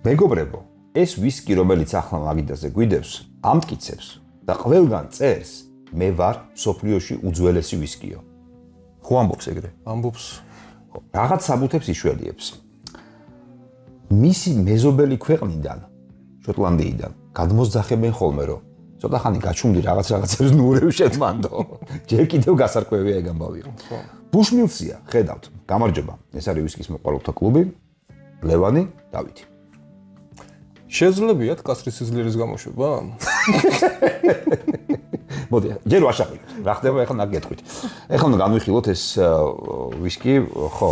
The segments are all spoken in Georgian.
მეგობრებო, ეს ვისკი, რომელიც ახლა მაგიდაზე გვიდევს, ამტკიცებს და ყველგან წერს, მე ვარ სოფლიოში უძველესი ვისკიო. ხო ამბობს ეგრე? ამბობს. რაღაც საბუთებს იშველიებს. მისი მეზობელი ქვეყნიდან, შოტლანდიიდან, გადმოსძახებენ ხოლმე, რომ ცოტა ხანი გაჩუმდი რაღაცებს ნურევშეთ მანდო. ჯერ კიდევ გასარკვევია ეგ ამბავი. ბუშმილსია, ხედავთ, გამარჯობა. ეს არის ვისკის მოყვარულთა კლუბი, ლევანი, დავითი. შეძლებიათ კასრის სიძლიერის გამოშვება? მოდი, ჯერ ვაშაყიდეთ. რა ხდება ახლა ნაგეთქვით. ახლა უნდა განვიხილოთ ეს ვისკი, ხო,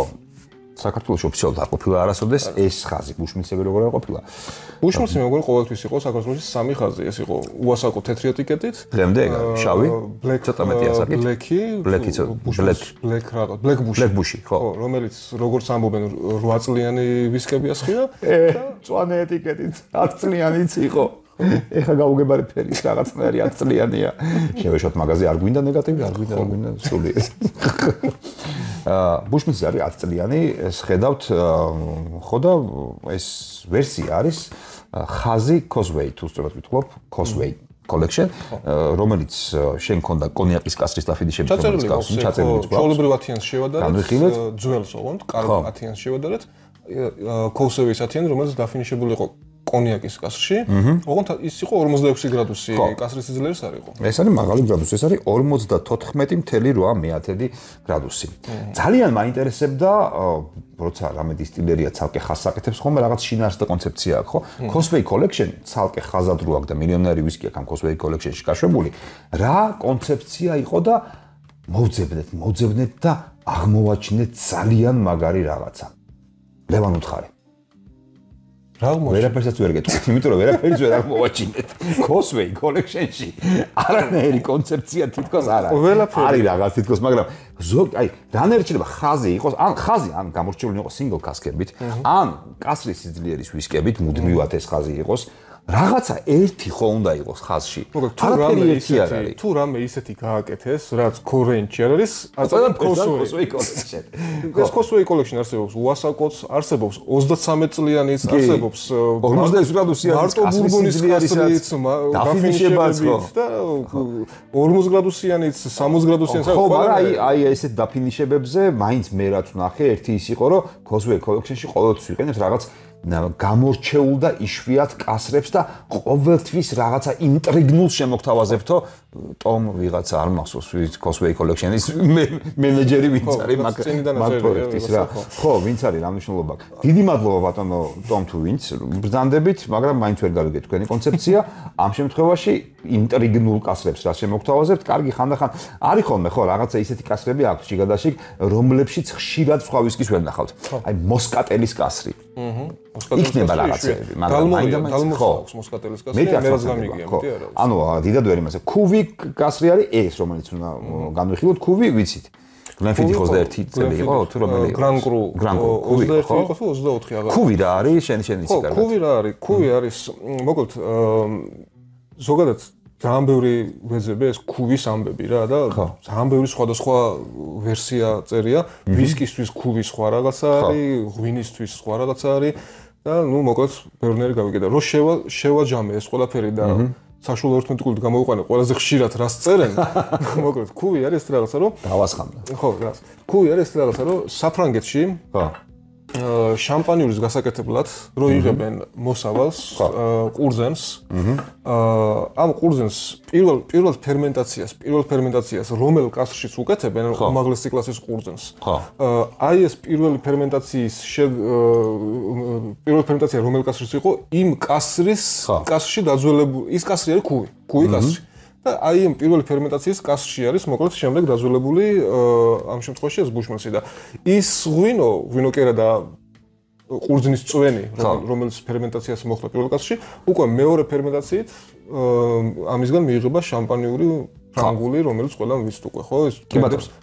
საქართველოს ოფიციალურად არ ყოფილა არასოდეს ეს ხაზი ბუშმილსები როგორ არ ყოფილა. ბუშმილსი მეგობრებო ყოველთვის იყო საქართველოში სამი ხაზი, ეს იყო უასაკო თეთრი ეტიკეტით. დღემდე ეგ არის, შავი, ცოტა მეტი ასაკით. ბლეკ ბუში, ხო, რომელიც როგორც ამბობენ 8 წლიანი ვისკები ასხია და მწვანე ეტიკეტით 10 წლიანიც იყო. ეხა გაუგებარი ფერის რაღაცნაირი 10 წლიანია. შევეშოთ მაღაზი არ გვინდა ნეგატივი, არ გვინდა სული. ბუშმილსი არის 10 წლიანი, ეს ხედავთ, ხო და ეს ვერსია არის ხაზი Causeway, თუ სწორად ვიტყობ, Causeway collection, რომელიც შენ ქონდა კონიაკის კასრის დაფიდის შემთხვევაში გავს, ჩაწერილი გვაქვს. ჩვეულებრივ 10-იანს შევადარეთ, ძველს ოღონდ, კარგ 10-იანს შევადარეთ. Causeway-ის 10-იანი, რომელიც დაფინიშებული იყო კონიაკის კასრში, ოღონდ ის იყო 46 გრადუსი კასრის სიძლიერის არ იყო. ეს არის მაღალი გრადუსი, ეს არის 54.8 გრადუსი. ძალიან მაინტერესებდა, როცა რამე დისტილერია ცალკე ხაზს აკეთებს, ხოლმე რაღაც შინაარსი და კონცეფცია აქვს, ხო? Causeway collection ცალკე ხაზად რო აქვს და მილიონერი ვისკი აქვს ამ Causeway collection-ში გაშვებული. რა კონცეფცია იყო და მოვძებნეთ და აღმოვაჩინეთ ძალიან მაგარი რაღაცა. ლევან უთხარი. ვერაფერსაც ვერ გეტყვით, იმიტომ რომ ვერაფერიც ვერ აღმოვაჩინეთ. Causeway collection-ში არანაირი კონცეფცია თითქოს არ არის. არის რაღაც თითქოს, მაგრამ აი, რანაირჩება ხაზი იყოს, ან გამორჩეული იყოს single cask-ებით, ან კასრის სიძლიერის ვისკებით, მუდმივად ეს ხაზი იყოს. რაღაცა ერთი ხო უნდა იყოს ხაზში. თუ რამე ისეთი გააკეთეს, რაც კორენჩი არის, აწევენ Causeway collection. ეს Causeway collection არსებობს უასაკოც, არსებობს 33 წლიანიც, არსებობს 46 გრადუსიანი მარტო ბურბონის კასრიც, დაფინიშებებით და 40 გრადუსიანიც, 60 გრადუსიანიც. ხო, მაგრამ აი ესეთ დაფინიშებებზე მაინც მე რაც ვნახე, ერთი ის იყო, რომ Causeway collection-ში ყოველთვის ვიყენებთ რაღაც გამორჩეულ და იშვიათ კასრებს და ყოველთვის რაღაცა ინტრიგნულ შემოგთავაზებთო ტომ ვიღაცა არ მახსოვს Causeway collection-ის მენეჯერი ვინც არის მაგ პროექტის რა. ხო, ვინც არის რა მნიშვნელობა. დიდი მადლობა ბატონო ტომ თუ ვინც ბრძანდებით, მაგრამ მაინც ვერ გავიგეთ თქვენი კონცეფცია. ამ შემთხვევაში ინტრიგნულ კასრებს რა შემოგთავაზებთ, კარგი ხანდახან არის ხოლმე ხო რაღაცა ისეთი კასრები აქვს შიგადაშიგ, რომლებშიც ხშირად სხვა ვისკის ვერ ნახავთ. აი მოსკატელის კასრი. იქნება რაღაცები, მაგრამ მაინდა ხო, მოსკატელის კასრი მერაც გამიგია, მეტი არა. ანუ დიდად ვერ იმასე. Kuvi კასრი არის ეს, რომელიც უნდა განვიხილოთ, Kuvi ვიცით. Glenfiddich 21 წელი იყო, თუ რომელი იყო? Grand Cru. Kuvi იყო, 24 აღარ. Kuvi რა არის? შენ იცი კარგად. Kuvi რა არის? Kuvi არის, მოკლედ, ზოგადად ძალიან ბევრი ვეძებია ეს Kuvis ამბები რა და ძალიან ბევრი სხვადასხვა ვერსია წერია. ვისკისთვის Kuvi სხვა რაღაცა არის, ღვინისთვის სხვა რაღაცა არის და ნუ მოკლედ ბევრნაირი გავიგე და რო შევაჯამე ეს ყველაფერი და საშუალო ერთმეტყველით გამოვიყვანე ყველაზე ხშირად რას წერენ. მოკლედ Kuvi არის ეს რაღაცა რომ დავასხამდა. ხო, რას. Kuvi არის ეს რაღაცა რომ საფრანგეთში ხო შამპანიურის გასაკეთებლად რო იღებენ მოსავალს, ყურძენს. ამ ყურძენს პირველ ფერმენტაციას რომელ კასრშიც უკეთებენ, უმაღლესი კლასის ყურძენს. აი ეს პირველი ფერმენტაცია რომელ კასრშიც იყო, იმ კასრში დაძველებული, ის კასრი არის Kuvi კასრი. და აი ამ პირველი ფერმენტაციის კასრში არის მოკლედ შემდეგ დაძველებული ამ შემთხვევაში ეს ბუშმილსი და ის ღვინო კერა და ყურძნის წვენი რომელიც ფერმენტაციას მოხდა პირველ კასრში უკვე მეორე ფერმენტაციით ამისგან მიიღება შამპანიური ფრანგული რომელიც ყველამ ვიცით უკვე ხო ეს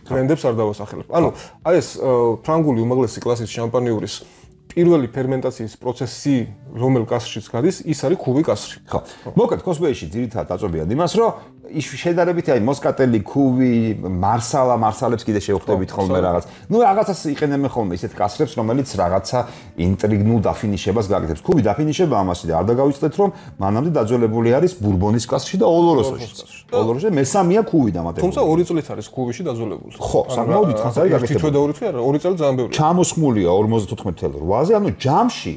ტრენდებს არ დავასახელებ ანუ აი ეს ფრანგული უმაღლესი კლასის შამპანიურის პირველი ფერმენტაციის პროცესი რომელ კასრშიც გადის ის არის Kuvi კასრი. ხო. მოკლედ Causeway-ში ძირითადად აწვევიან იმას, რომ შედარებით აი მოსკატელი, ქუვი, მარსალებს კიდე შევხვდებით ხოლმე რაღაც. ნუ რაღაცას იყენებენ ხოლმე ისეთ კასრებს, რომელიც რაღაცა ინტრიგნულ დაფინიშებას გაკეთებს. ქუვი დაფინიშება ამასი და არ დაგავიწყდეთ რომ მანამდე დაძველებული არის ბურბონის კასრში და ოლოროსოში. ოლოროსში მესამეა ქუვი დამატებული. თუმცა 2 წლით არის ქუვიში დაძველებული. ხო, საკმაოდ დიდხანს არის გაკეთებული. თითო და 2 წელი არა, 2 წელი ძალიან ბევრია. ჩამოსხმულია 54.8-ზე, ანუ ჯამში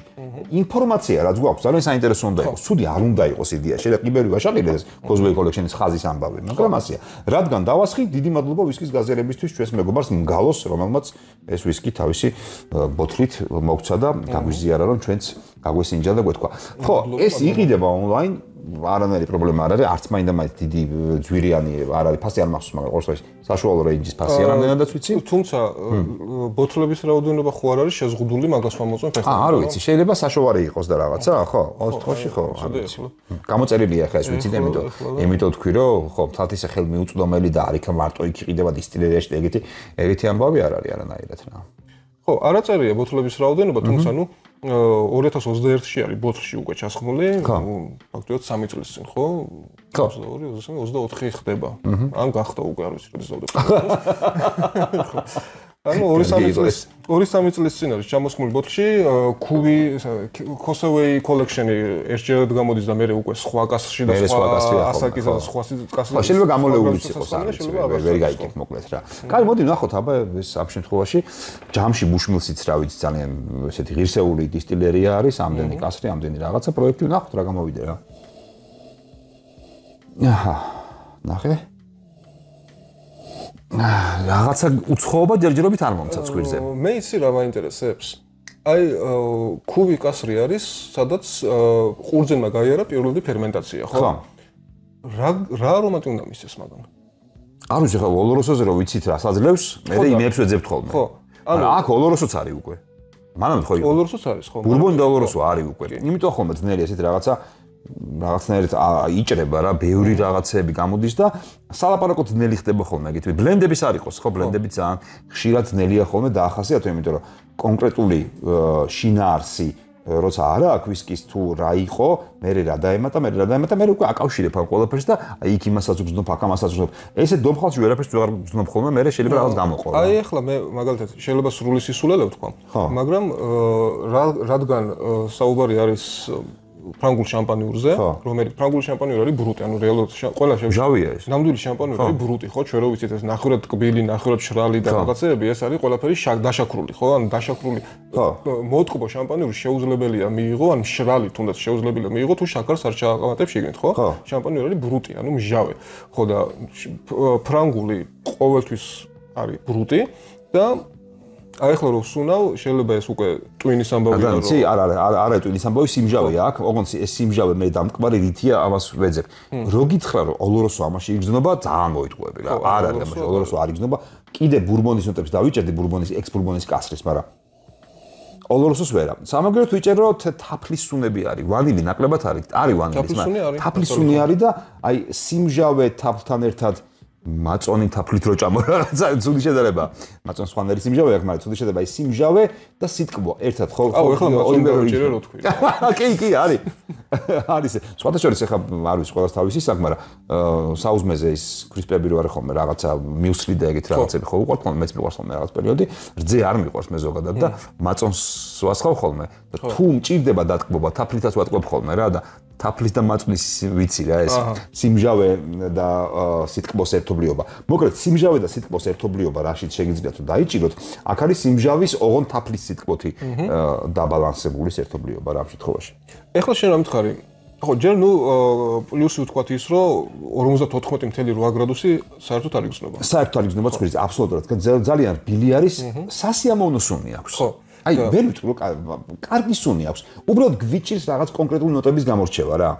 ინფორმაცია რაც გვაქვს ძალიან საინტერესო უნდა იყოს. ცუდი არ უნდა იყოს იდეა. შეიძლება კიბერი ვაშაყიდეს Cosway Collection-ის ხაზის ამბავი, მაგრამ ასია. რადგან დავასხი, დიდი მადლობა ვისკის გაზიარებისთვის ჩვენს მეგობარს მგალოს, რომელმაც ეს ვისკი თავისი ბოთლით მოგცა და გაგვიზიარა რომ ჩვენც გაგვესინჯა და გვეთქვა. ხო, ეს იყიდება ონლაინ, არანაირი პრობლემა არ არის, არც მაინდა-მაინც დიდი ძვირიანი არ არის, ფასი არ მახსოვს, მაგრამ ყოველთვის საშუალო რეინჯის ფასი რამდენადაც ვიცი. თუმცა ბოთლების რაოდენობა ხო არ არის შეზღუდული, მაგას ვამოწმებ ახლა. არ ვიცი, შეიძლება საშოვარი იყოს და რაღაცა, ხო? ყოველ შემთხვევაში ხო, არ ვიცი. გამოწერილია ახლა ეს ვიცით, იმიტომ თქვი რომ ხო, თათისა ხელმიუწვდომელი და არ იქ მარტო იქ იყიდება დისტილერიაში და ეგეთი ამბავი არ არის არანაირად რა. ხო, არ აწერია ბოთლების რაოდენობა, თუმცა ნუ 2021-ში არის ბოთლში უკვე ჩასხმული, ფაქტობრივად 3 წლის წინ, ხო? 22-23 ხდება. ან გახდა უკვე არ ვიცი, როდის დავდებ. ანუ 2-3 წლის წინ არის ჩამოსხმული ბოთლში, ქუვი Cosway Collection-ი ერთჯერად გამოდის და მე უკვე სხვა კასში და სხვა ასაკისა და სხვა კასში. შეიძლება გამოლეულიც იყოს, ვერ გაიგებ მოკლედ რა. კაი, მოდი ნახოთ აბა ეს ამ შემთხვევაში ჯამში Bushmills-იც რა ვიცი ძალიან ესეთი ღირსეული დისტილერია არის, ამდენი კასრი, ამდენი რაღაცა პროექტი ნახოთ რა გამოვიდა რა. აჰა, ნახე. რაღაცა უცხოობა ჯერჯერობით არ მომცა ცხვირზე. მე იცი რა მაინტერესებს. აი ქუვი კასრი არის, სადაც ყურძენმა გაიარა პირველი ფერმენტაცია, ხო? ხო. რა არომატი უნდა მისცეს მაგამ? არ ვიცი ხა ოლოროსოზე რო ვიცით რა საძლევს, მე იმებს ვეძებთ ხოლმე. ხო. ანუ აქ ოლოროსოც არის უკვე. მანამდე ხო იყო. ოლოროსოც არის, ხო? ბურბონი და ოლოროსო არის უკვე. იმიტომ ხოლმე ძნელი ესეთ რაღაცნაირად იჭრება რა, ბევრი რაღაცები გამოდის და სალაპარაკო ძნელი ხდება ხოლმე, ეგეთი ბლენდების არ იყოს, ხო, ბლენდები ძალიან ხშირად ძნელია ხოლმე დაახასიათო, იმიტომ რომ კონკრეტული შინაარსი როცა არა აქვს ვისკის თუ რა იყო, მე რა დაემატა, მე უკვე აკავშირებ ამ ყველაფერს და აი იქ იმასაც ვგზნობ, აქ ამასაც ვგზნობ. ესე დომხალში ვერაფერს ვეღარ ვგზნობ ხოლმე, მე შეიძლება რაღაც გამოყო. აი ახლა მე მაგალითად შეიძლება სრული სისულელე ვთქვა, მაგრამ რადგან საუბარი არის ფრანგულ შამპანიურზე, რომელიც ფრანგული შამპანიური არის ბრუტი, ანუ რეალურად ყველა ჟავია ეს. ნამდვილი შამპანიური არის ბრუტი, ხო, ჩვენ რო ვიცით ეს ნახევრად ტკბილი, ნახევრად შრალი და რაღაცეები, ეს არის ყველაფერი დაშაქრული, ხო? ანუ დაშაქრული მოტკბო შამპანიური შეუძლებელია მიიღო, ან შრალი თუნდაც შეუძლებელია მიიღო, თუ შაქარს არ ჩააყავატებს შიგნით, ხო? შამპანიური არის ბრუტი, ანუ მჟავე. ხო და ფრანგული ყოველთვის არის ბრუტი და აი ახლა რო ვსუნავ, შეიძლება ეს უკვე ტვინის ამბავია რომ იცი, არა ტვინის ამბავი, სიმჟავეა აქ, ოღონდ ეს სიმჟავე მე დამტკბარი რითია, ამას ვეძებ. რო გითხრა რომ ოლოროსო ამაში იგრძნობა, ძალიან მოიტყუები რა. არ არის ამაში ოლოროსო არ იგრძნობა. კიდე ბურბონის ნოტებს დავიჭერდი, ბურბონის ექს-ბურბონის კასრის, მაგრამ ოლოროსოს ვერა. სამაგეროთ ვიჭეროთ თაფლის სუნები არის, ვანილი ნაკლებად არის ვანილის, მაგრამ თაფლის სუნი არის და აი სიმჟავე თაფლთან ერთად მაწონი თაფლით რო ჭამო რაღაცა ცუდი შედარება. მაწონს ხანერი სიმჟავე აქვს, მაგრამ ცუდი შედარება ის სიმჟავე და სიტკბო ერთად ხო? აუ ეხლა ოლიმპიადაში ვიჭერე რო თქვი. კი, არის. არის. სხვათა შორის ეხლა არ ვიცი ყველას თავისი საქმე, მაგრამ საუზმეზე ის კრისპები რო არის ხოლმე რაღაცა მიუსლი და ეგეთ რაღაცები ხო უყვართ ხოლმე, მეც მიყვარს ხოლმე რაღაც პერიოდი. რძე არ მიყვარს მე ზოგადად და მაწონს ვასხავ ხოლმე. თუ მჭირდება დატკბობა, თაფლითაც ვატკბობ ხოლმე რა და თაფლის და მაწვნის ვიცი რა ეს სიმჟავე და სიტკბოს ერთობლიობა. მოკლედ სიმჟავე და სიტკბოს ერთობლიობა რაშიც შეგიძლიათ თუ დაიჭიროთ, აქ არის სიმჟავის ოღონდ თაფლის სიტკბოთი დაბალანსებული ერთობლიობა რა ამ შემთხვევაში. ეხლა შენ რა მითხარი? ხო, ჯერ ნუ პლუსი ვთქვათ ის, რომ 54.8 გრადუსი საერთოდ არ იგრძნობა. საერთოდ არ იგრძნობა ცხვირის, აბსოლუტურად, ძალიან რბილი არის, სასიამოვნო სუნი აქვს. ხო. აი, ვერ ვიტყვი რომ კარგი სუნი აქვს. უბრალოდ გვიჭირს რაღაც კონკრეტული ნოტების გამორჩევა რა.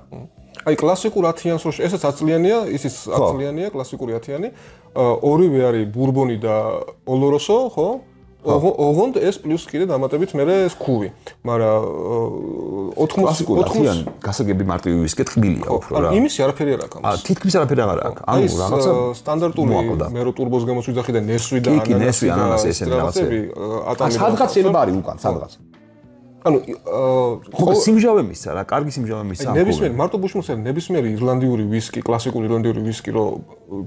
აი, კლასიკურ 10-იანს რო ესაც 10 წლიანია, ისიც 10 წლიანია, კლასიკური 10-იანი. ორივე არის ბურბონი და ოლოროსო, ხო? ოღონდ ეს პლუს კიდე დამატებით მე ეს ქუვი. მაგრამ 80-იანი გასაგები მარტივი ვისკი ტკბილია უფრო რა. იმისი არაფერი არ აქვს. თითქმის არაფერი არ აქვს. ანუ რაღაცა სტანდარტული მე რო ტურბოს გემოს ვიძახი და ნესვი და ანანასი ესენი რაღაცები. სადღაც შეიძლება არის უკან, სადღაც. ანუ ხო სიმჟავე მისცა რა, კარგი სიმჟავე მისცა. ნებისმიერ მარტო ბუშმილსელი ნებისმიერი ირლანდიური ვისკი, კლასიკური ირლანდიური ვისკი რო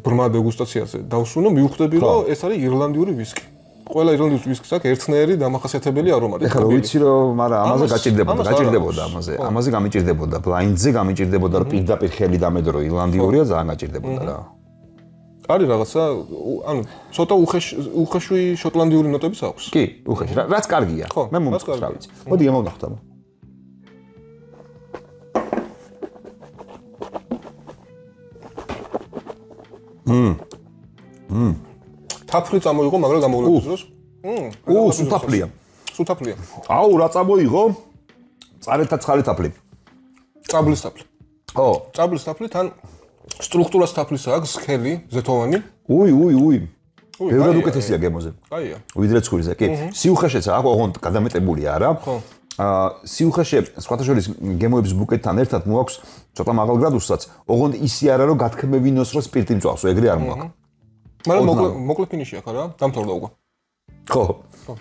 ბრმა დეგუსტაციაზე დავსუნო, მივხვდები რომ ეს არის ირლანდიური ვისკი. ყველა ირლანდიის ვისკის აქვს ერთნაირი დამახასიათებელი არომატი. ეხლა ვიცი რომ მაგრამ ამაზე გაჭირდებოდა ამაზე გამიჭირდებოდა, ბლაინდზე გამიჭირდებოდა რომ პირდაპირ ხელი დამედო რომ ირლანდიურია, ძალიან გაჭირდებოდა რა. არის რაღაცა, ანუ ცოტა უხეშვი შოტლანდიური ნოტებიც აქვს. კი, უხეში. რაც კარგია. მე მომწონს რა ვიცი. მოდი ამოვნახოთ. თაფლი წამოიღო, მაგრამ გამოვლების დროს. სუთაფლია. სუთაფლია. აუ, რა წამოიღო? წარეთა ცხარი თაფლი. წაბლის თაფლი. ხო, წაბლის თაფლი თან სტრუქტურას თაფლისა აქვს, სქელი, ზეთოვანი. უი. ბევრად უკეთესია გემოზე. კაია. ვიდრე ცხვირზე, კი. სიუხეშეც აქვს, ოღონდ გადამეტებულია რა. ხო. სიუხეშე სხვათა შორის გემოების ბუკეტთან ერთად მოაქვს ცოტა მაღალ გრადუსსაც, ოღონდ ისი არა რომ გათქმევინოს რომ სპირტი მწვავსო, ეგრე არ მოაქვს. მაგრამ მოკლე ფინიში აქვს რა, დამთავრდა უკვე. ხო.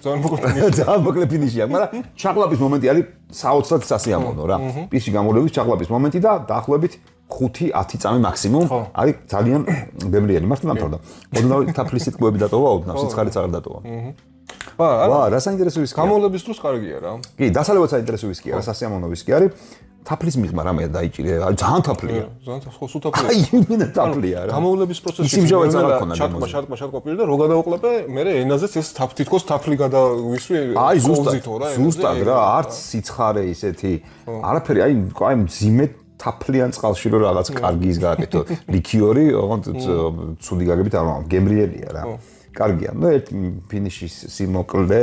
ძალიან მოკლე ფინიში. ძალიან მოკლე ფინიში აქვს, მაგრამ ჩაყლაპის მომენტი არის საოცრად სასიამოვნო რა. პირში გამოვლების ჩაყლაპის მომენტი და დაახლოებით 5-10 წამი მაქსიმუმ არის ძალიან ბევრიანი. მართლა დამთავრდა. ოდნავ თაფლის სიტყვები დატოვა, ოდნავ სიცხარიც არ დატოვა. ვა, რა საინტერესო ვისკია. გამოვლების დროს კარგია რა. კი, დასალევად საინტერესო ვისკია, რა სასიამოვნო ვისკი არის. თაფლის მიღმა რამე დაიჭირე, ძალიან თაფლია. ძალიან ხო სუთაფლია. აი, იმენა თაფლია რა. გამოვლების პროცესში სიმჟავეც არ აქვს ჩატყვა პირ და რო გადავყლები, მე ენაზეც ეს თითქოს თაფლი გადავისვი. აი, ზუსტად რა, არც სიცხარე ისეთი. არაფერი, აი მძიმე თაფლიან წყალში რო რაღაც კარგი ის გააკეთო. ლიქიორი, ოღონდ ცუდი გაგებით არ მაქვს, გემრიელია რა. კარგია. ნუ ერთ ფინიშის სიმოკლე,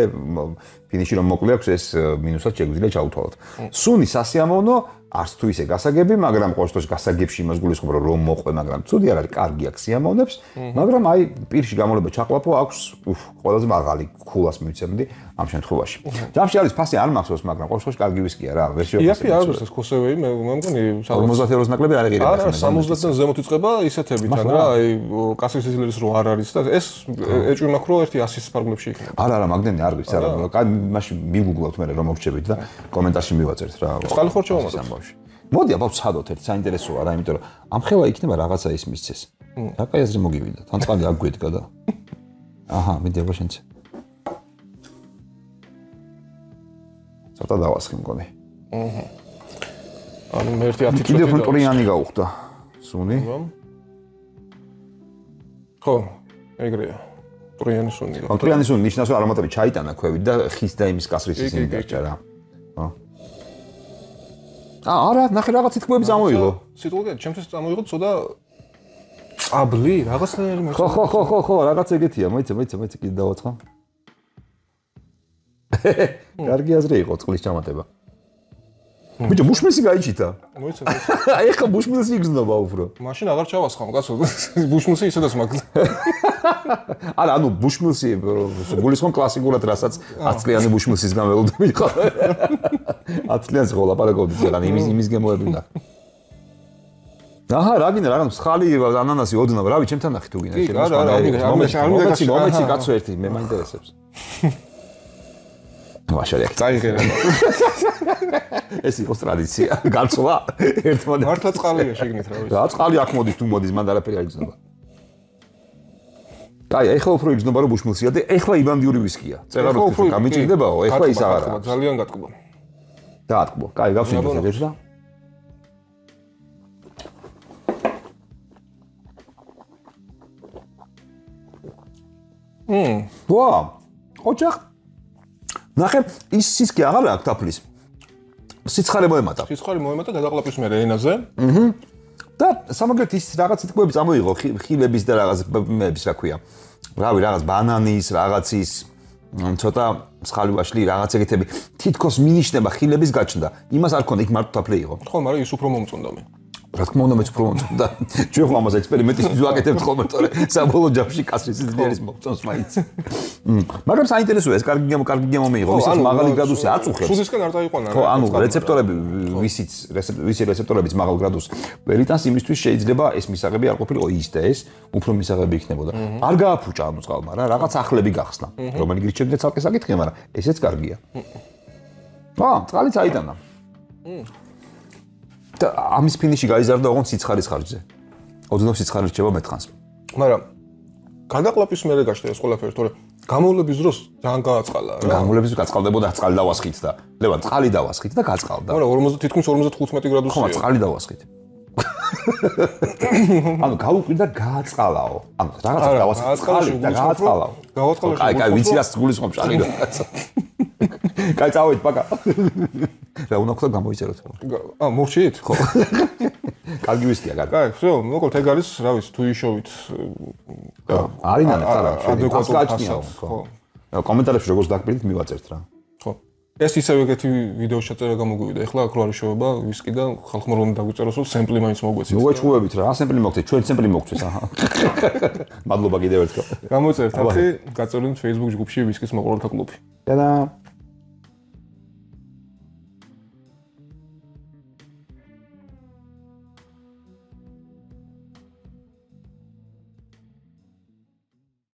ფინიში რომ მოკლე აქვს, ეს მინუსად შეგვიძლია ჩაუთვალოთ. სუნი სასიამოვნო, არც თუ ისე გასაგები, მაგრამ ყოველ შემთხვევაში გასაგებში იმას გულისხმობ, რომ მოყვე, მაგრამ ცუდი არ არის, კარგი აქვს სიამოვნებს, მაგრამ აი პირში გამოვლება ჩაყლაპო აქვს, ყველაზე მაღალი ქულას მივცემდი ამ შემთხვევაში. ჯამში არის ფასი არ მახსოვს, მაგრამ ყოველ შემთხვევაში კარგი ვისკია რა, ვერ შევაფასებ. იაფი არის ეს ქოსევეი, მე მგონი 50 ევროს ნაკლები არ ეღირება. არა, 70-დან ზემოთ იწყება ისეთებიდან რა, აი კასრის სიძლიერის რო არ არის და ეს ეჭვი მაქვს რომ ერთი 100-ის ფარგლებში იქნება. არა, მაგდენი არ ვიცი, არა, მაშინ მიგუგლავთ მე რომ მოვჩებით და კომენტარში მივაწერთ რა. წყალი ხორ ჩავამატოთ. მოდი აბა ვცადოთ ერთ საინტერესოა რა, იმიტომ რომ ამ ხევა იქნება რაღაცა ის მისცეს. რა კაი აზრი მოგივიდა, თან წყალი აქ გვედგა და. აჰა, მიდი აბა შენც. ცოტა დავასხი მგონი. ანუ მე ერთი 10 წუთი. კიდევ კონტრიანი გაუხდა. სუნი. ხო, ეგრეა. ტრიანი სუნი. ტრიანი სუნი ნიშნავს რომ არომატები ჩაიტანა ქვევით და ხის და იმის კასრის ისინი დარჩა რა. ხო. არა, ნახე რაღაც სიტყვები წამოიღო. სიტყვები ჩემთვის წამოიღო ცოტა წაბლი, რაღაცნაირი მე. ხო, რაღაც ეგეთია, მოიცა კიდე დავაცხა. კარგი აზრი იყო წყლის ჩამატება. ბიჭო, ბუშმილსი გაიჩიტა. მოიცა. აი ხა ბუშმილსი იგზნობა უფრო. მაშინ აღარ ჩავასხამ, კაცო. ბუშმილსი ისედაც მაგ. არა, ანუ ბუშმილსი გულისხმობ კლასიკურად რასაც 10 წლიანი ბუშმილსისგან ველოდები ხო? 10 წლიანს ხო ლაპარაკობდით, რა იმის გემოები უნდა. აჰა, რა გინდა, რაღაც მსხალი ანანასი ოდნავ, რავი, ჩემთან ნახე თუ გინდა. მომეცი კაცო ერთი, მე მაინტერესებს. ვაშალე. წაიღერა. ეს იყო ტრადიცია, გაცვლა ერთმანეთს. მართლა წყალია შეგნით რა ვიცი. რა წყალი აქ მოდის თუ მოდის, მანდ არაფერი არ იგრძნობა. აი, ეხლა უფრო იგრძნობა რომ ბუშმილსია და ეხლა ირლანდიური ვისკია. წერა რო გამიჭირდებაო, ეხლა ის აღარა. ძალიან გატკბო. დაატკბო. კაი, გავსინდეთ ეს და. ვა, ოჯახ. ნახე, ის სისკი აღარ აქვს თაფლის. სიცხარე მოემატა. სიცხარე მოემატა გადაყლაპის მერე ენაზე. და სამაგერთ ის რაღაც სიტყვები წამოიღო ხილების და რაღაც მეების რა ქვია. რავი, რაღაც ბანანის, რაღაცის ცოტა მსხალი ვაშლი, რაღაც ეგეთები. თითქოს მინიშნება ხილების გაჩნდა. იმას არ ქონდა, იქ მარტო თაფლი იყო. ხო, მაგრამ ის უფრო მომწონდა მე. რა თქმა უნდა, მეც უფრო მომწონდა. ჩვენ ხო ამას ექსპერიმენტის ვაკეთებთ ხოლმე, თორე საბოლოო ჯამში კასრის სიძლიერის მომწონს მაინც. მაგრამ საინტერესოა, ეს კარგი გემო მიიღო, ვისაც მაღალი გრადუსი აწუხებს. სულისკენ არ დაიყვანა. ხო, ანუ რეცეპტორები, ვისი რეცეპტორებიც მაღალ გრადუსს ვერიტანს იმისთვის შეიძლება ეს მისაღები არ ყოფილიყო ის და ეს უფრო მისაღები იქნებოდა. არ გააფუჭა ანუ წყალმა რა, რაღაც ახლები გახსნა. რომელი გირჩევდეთ ცალკე საკითხი, მაგრამ ესეც კარგია. წყალი წაიტანა. და ამის ფინიში გაიზარდა ოღონდ სიცხარის ხარჯზე. ოდნავ სიცხარი რჩება მეთხანს. მაგრამ გადაყლაპის მერე გაჩნდა ეს ყველაფერი, თორე გამოვლების დროს ძალიან გააწყალა რა. გამოვლების დროს გაწყალდებოდა წყალი დავასხით და ლევან წყალი დავასხით და გაწყალდა. მაგრამ თითქმის 55 გრადუსია. ხო, წყალი დავასხით. ანუ გაუკვირდა გააწყალაო. ანუ რაღაცა დავასხით წყალი და გააწყალაო. გააწყალა. კაი, ვიცი რას გულისხმობ შარი და. კაი, წავით, პაკა. რა უნდა ხდა გამოიწეროთ. მოვჩით? ხო. კარგი ვისკია, კარგი. კაი, всё, მოკლედ ეგ არის, რა ვიცი, თუ იშოვით. არის ნანა, ადეკვატურია, ხო. კომენტარებში როგორც დაგპირდით მივაწერთ რა. ხო. ეს ისევ ეგეთი ვიდეო შეწერა გამოგვივიდა. ეხლა აქ რო არის შოვება ვისკი და ხალხმა რომ დაგვიწეროს, რომ სემპლი მაინც მოგვეცით. მოვაჩხუბებით რა, სემპლი მოგწეთ, ჩვენ სემპლი მოგწეს, აჰა. მადლობა კიდევ ერთხელ. გამოწერთ ახლა, გაწოლინეთ Facebook ჯგუფში ვისკის მოყოლთა კლუბი. და